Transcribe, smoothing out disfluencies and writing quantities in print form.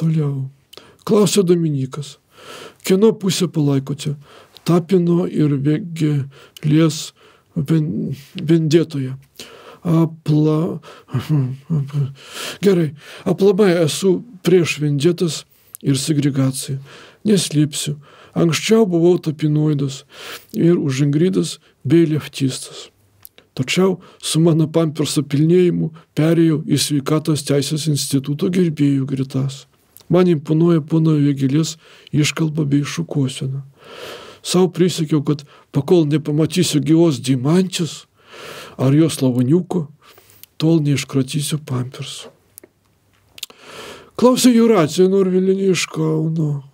Toliau. Klausia Dominikas. Kieno pusę palaikote? Tapino ir vėgėlės vendėtoje. Gerai. Aplamai esu prieš vendėtas ir segregaciją. Neslėpsiu. Anksčiau buvau tapinoidas ir už Ingridas bei leftistas. Tačiau su mano pamperso pilnėjimu perėjau į sveikatos teisės instituto gerbėjų gretas. Man imponuoja pono Vėgėlės iškalba bei šukuosena. Sau prisiekiau, kad pakol nepamatysiu gyvos deimantės ar jos lavoniuko, tol neiškratysiu pampersų. Klausė Jūratė Norvilienė iš Kauno.